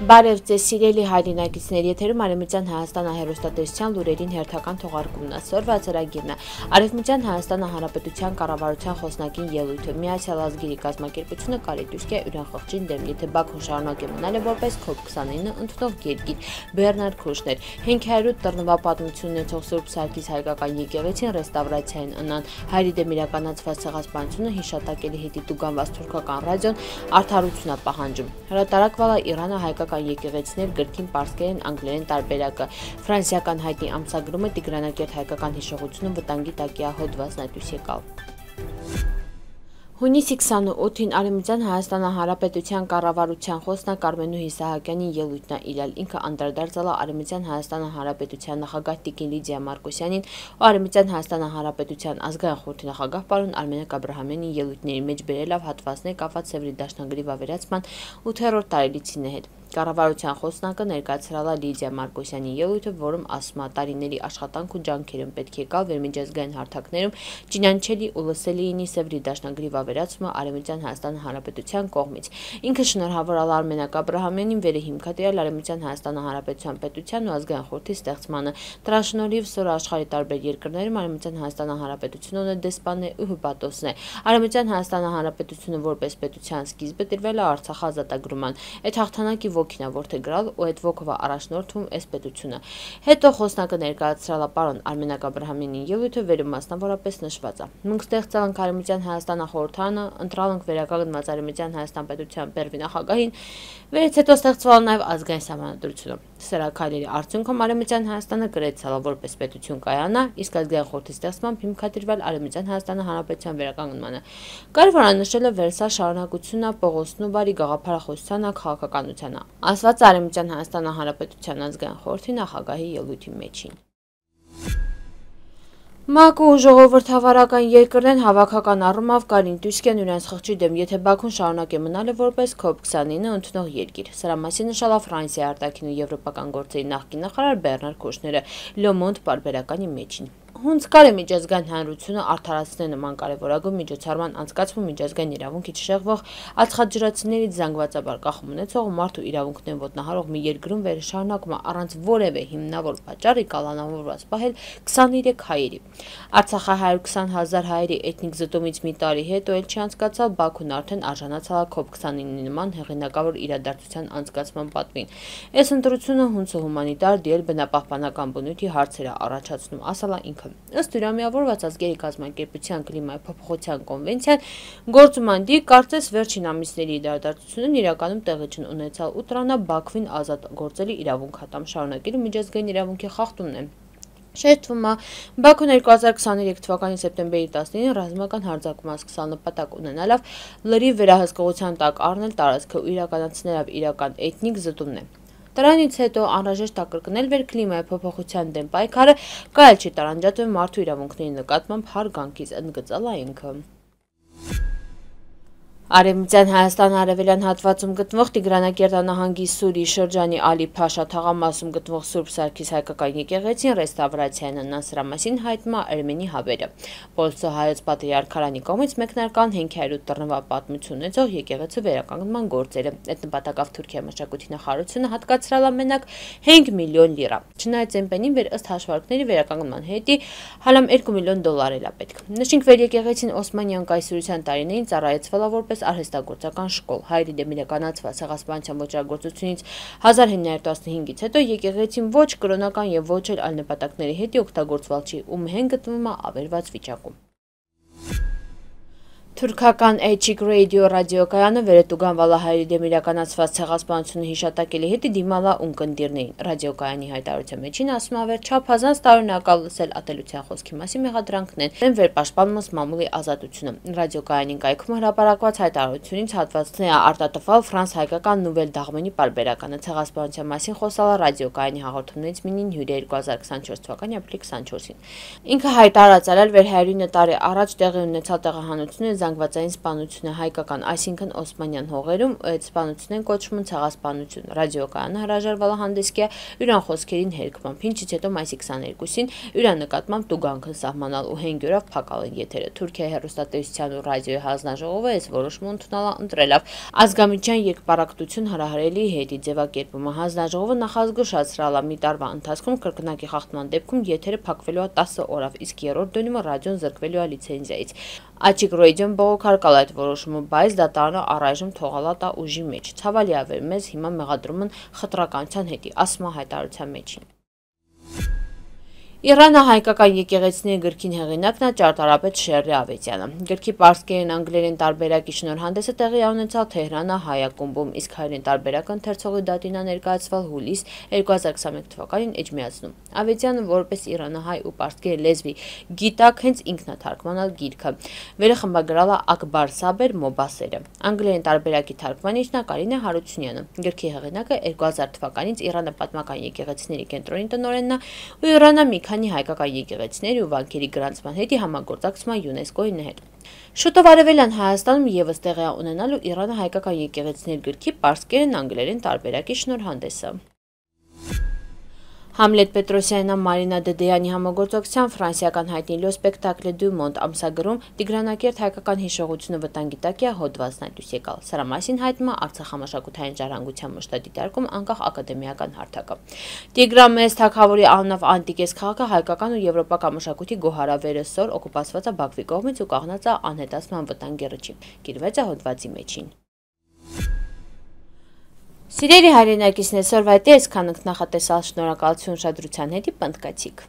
Բարև ձեզ սիրելի հայրենակիցներ, եթերում Արևմտյան Հայաստանը հեռուստատեսության լուրերին հերթական թողարկումն է։ Սորվա ծրագիրն է։ Արևմտյան Հայաստանը Հանրապետության կառավարության խոսնակին ելույթը Միացյալ Ազգերի կազմակերպությունը կարի դուրս է Իրան խղճին դեմ, եթե Բաքուն շարունակի մնալ որպես COP29 ընդունող երկիր։ Բեռնարդ Քուշներ 500 տռնվա պատմություն ունեցող Սուրբ Սարգիս հայկական եկեղեցին ռեստավրացիային ընան հայերի դեմ իրականացված ցեղասպանությունը հիշատակելի հետի տուգանված թուրքական ռադիոն արդարություն է պահանջում։ Հրատարակվալա Իրանը հայկական եկեղեցիներ գրքին պարսկերեն անգլերեն տարբերակը ֆրանսիական հայտի ամսագրումը Տիգրանակերտ հայկական հիշողությունը վտանգի տակ է հոդվածն այդուց եկալ։ Հունիսի 28-ին Արևմտյան Հայաստանը Հանրապետության կառավարության խոսնակ Արմենուհի Սահակյանի ելույթն է իրել, ինքը անդրադարձել է Արևմտյան Հայաստանը Հանրապետության նախագահ Տիկին Լիդիա Մարկոսյանին ու Արևմտյան Հայաստանը Հանրապետության ազգային խորհրդի նախագահ պարոն Արմենակ Աբրահամյանի ելույթների մեջ բերելով հատվածներ կապված Սևրի դաշնագրի վավերացման 8-րդ տարելիցին հետ։ Կառավարության խոսնակը ներկայացրել է Լիդիա Մարկոսյանի ելույթը, որում ասում է տարիների աշխատանք ու ջանքերում պետք է գալ վերմիջազգային հարթակներում ճինանչելի ու լսելի լինի Սևրի դաշնագրի վավերացումը Արևմտյան Հայաստան Հանրապետության կողմից։ Ինքը շնորհավորել է Արմենակ Աբրահամյանին վերահիմքատիրել Արևմտյան Հայաստան Հանրապետության պետության ու ազգային խորհրդի ստեղծմանը։ Դրա շնորհիվ սօր աշխարհի տարբեր երկրներում Արևմտյան Հայաստան Հանրապետությունը ունի դեսպանն ու հպատոսն է։ Արևմտյան Հայաստան Հանրապետությունը որպես պետության սկիզբը տրվել է Արցախ ազատագրման։ Այդ հաղթանակի ոգին է որդեգրալ ու այդ ոգով առաջնորդում էս պետությունը։ Հետո խոսնակը ներկայացրել է պարոն Արմենակ Աբրահամյանի ելույթը, վերում մասնավորապես նշված է։ Մենք ստեղծել ենք Արևմտյան Հայաստանը խորհրդարանը, ընտրել ենք վերականգնված Արևմտյան Հայաստան պետության բերվի նախագահին, վերից հետո ստեղծվել նաև ազգային սահմանադրությունը։ Սրա քայլերի արդյունքում Արևմտյան Հայաստանը գրեցել որպես պետություն կայանա, իսկ ազգային խորհրդի ստեղծմամբ հիմքատիրվել Արևմտյան Հայաստանը Հանրապետության վերականգնմանը։ Կարևոր է նշել վերսա շարունակությունն է Պողոսն ու բարի գաղափարախոսությանը, քաղաքականությանը, ասված Արևմտյան Հայաստան Հանրապետության ազգային խորհրդի նախագահի ելույթի մեջին։ ՄԱԿ-ը ու ժողովրդավարական երկրներն հավաքական առումով կարին դուսկ են իրենց խղճի դեմ, եթե Բաքուն շարունակի մնալ որպես COP29 ընդունող երկիր։ Սրա մասին նշել է Ֆրանսիայի արտաքին ու եվրոպական գործերի նախկին նախարար Բեռնարդ Քուշները Le Monde պարբերականի մեջին։ Հունց կարի միջազգային հանրությունը արդարացնել նման կարևորագույն միջոցառման անցկացվում միջազգային իրավունքի չշեղվող ածխաջրածներից զանգվածաբար կախում ունեցող մարդու իրավունքներն ոտնահարող մի երկրում վերշարունակումը առանց որևէ հիմնավոր պատճառի կալանավորված պահել 23 հայերի։ Արցախի 120,000 հայերի էթնիկ զտումից մի տարի հետո էլ չանցկացավ Բաքուն արդեն արժանացել է COP29 նման հեղինակավոր իրադարձության անցկացման պատվին։ Այս ընտրությունը հունցը հումանիտար դիել բնապահպանական բնույթի հարցեր է առաջացնում, ասել է ինքը։ Ըստ Միավորված ազգերի կազմակերպության կլիմայի փոփոխության կոնվենցիան գործում անդի կարծես վերջին ամիսների իրադարձությունն իրականում տեղի չունեցալ ու տրանա Բաքվին ազատ գործելի իրավունք հատամ շարունակելու միջազգային իրավունքի խախտումն է։ Շեշտվում է, Բաքուն 2023 թվականի սեպտեմբերի 19-ին ռազմական հարձակում սկսալ նպատակ ունենալով լրիվ վերահսկողության տակ առնել տարածքը ու իրականացնելով իրական էթնիկ զտումն է։ Դրանից հետո անհրաժեշտ է կրկնել վերքլիմայի փոփոխության դեմ պայքարը, կարել չի տարանջատվել մարդու իրավունքների նկատմամբ հարգանքից, ընդգծել է ինքը։ Արևմտյան Հայաստանի արևելյան հատվածում գտնվող Տիգրանակերտ նահանգի Սուրի շրջանի Ալի Փաշա թաղամասում գտնվող Սուրբ Սարգիս հայկական եկեղեցին ռեստավրացիային ընան սրա մասին հայտնում է Արմենի հավերը։ Պոլսո հայոց պատրիարքարանի կողմից մեկնարկան 500 տռնվա պատմություն ունեցող եկեղեցու վերականգնման գործերը։ Այդ նպատակով Թուրքիայի մշակույթի նախարարությունը հատկացրել է մենակ 5 միլիոն լիրա։ Չնայած Էմպենին ըստ հաշվարկների վերականգնման հետի հալամ $2 միլիոն էլ է պետք։ Նշենք վեր եկեղեցին Օսմանյան կայսրության տարիներին ծառայեցվել է որպես արհեստագործական շկոլ։ Հայերի դեմ իրականացված ցեղասպանության ոճրագործությունից 1915-ից հետո եկեղեցին ոչ կրոնական եւ ոչ էլ այլ նպատակների հետ օգտագործվել չի ու մեն գտնվում է ավերված վիճակում։ Թուրքական Էչիկ ռադիո ռադիոկայանը վերետուգանվել է հայերի դեմ իրականացված ցեղասպանությունը հիշատակելի հետի դիմալա ունկնդիրներին։ Ռադիոկայանի հայտարարության մեջին ասում է չափազանց տարօրինակալ լսել ատելության խոսքի մասին մեղադրանքներն են վերպաշտպանված մամուլի ազատությունը։ Ռադիոկայանի կայքում հրապարակված հայտարարությունից հատվածներ է արտատփալ Ֆրանս հայկական Նուվել Դաղմենի պարբերականը ցեղասպանության մասին խոսալ է ռադիոկայանի հաղորդումներից մինին հյուրի 2024 թվականի ապրիլի 24-ին։ Ինքը հայտարարել էր վեր 109 տարի առաջ տեղի ունեցած տեղահանությունը զանգվածային սպանությունը հայկական, այսինքն օսմանյան հողերում, այդ սպանությունն են կոչվում ցեղասպանություն։ Ռադիոկայանը հրաժարվել է հանդեսքիա յուրան խոսքերին հերքմամբ, ինչից հետո մայիսի 22-ին յուրան նկատմամբ տուգանքն սահմանալ ու 5 օրով փակալ են եթերը։ Թուրքիայի հեռուստատեսության ու ռադիոյի հանձնաժողովը այս որոշումը ընդունելով ազգամիջյան երկպարակտություն հրահրելի հետի ձևակերպումը։ Հանձնաժողովը նախազգուշացրել է մի տարվա ընթացքում կրկնակի խախտման դեպքում եթերը փակվելու է 10 օրով, իսկ երրորդ դնում ռադիոն զրկվելու է լիցենզիայից։ Աչիկ ռադիոն բողոքարկել այդ որոշումը, բայց դատարանը առայժմ թողալ է ուժի մեջ։ Ցավալի է վեր մեզ հիմա մեղադրում են խտրականության հետի, ասում է հայտարարության մեջին։ Իրանը հայկական եկեղեցիների գրքին հեղինակն է ճարտարապետ Շերրի Ավետյանը։ Գրքի պարսկերեն անգլերեն տարբերակի շնորհանդեսը տեղի ունեցավ Թեհրանը հայակումբում, իսկ հայերեն տարբերակը ընթերցողի դատին է ներկայացվել հուլիս 2021 թվականին Էջմիածնում։ Ավետյանը որպես իրանահայ ու պարսկերեն լեզվի գիտակ հենց ինքն է թարգմանել գիրքը։ Վերը խմբագրել է Ակբար Սաբեր Մոբասերը։ Անգլերեն տարբերակի թարգմանիչն է Կարինե Հարությունյանը։ Գրքի հեղինակը 2000 թվականից Իրանը պատմական եկեղեցիների կենտրոնի տնօրենն է ու Իրանը մի քանի հայկական եկեղեցիների ու վանքերի գրանցման հետի համագործակցման ՅՈՒՆԵՍԿՕ-ի հետ։ Շուտով արևելյան Հայաստանում ևս տեղի ունենալու Իրանը հայկական եկեղեցիների գրքի պարսկերեն անգլերեն տարբերակի շնորհանդեսը։ Համլետ Պետրոսյանն Մարինա Դդեյանի համագործակցությամբ ֆրանսիական հայտնի լո սպեկտակլը «Դու Մոնդ» ամսագրում Տիգրանակերտ հայկական հիշողությունը վտանգի տակ է հոդվածն է դուրս եկալ։ Սրա մասին հայտնում է Արցախ համաշխարհային ժառանգության մշտադիտարկում անկախ ակադեմիական հարթակը։ Տիգրամես թագավորի անունով անտիկես քաղաքը հայկական ու եվրոպական մշակույթի գոհարավերը սոր օկուպացված է Բաքվի կողմից ու կանգնած է անհետացման վտանգի ռճին։ Գիրվեց է հոդվածի մեջին։ Սիրելի հայրենակիցներ, այսօրվա այսքան ենք նախատեսալ, շնորհակալություն ուշադրության հետ, պնդկացիք։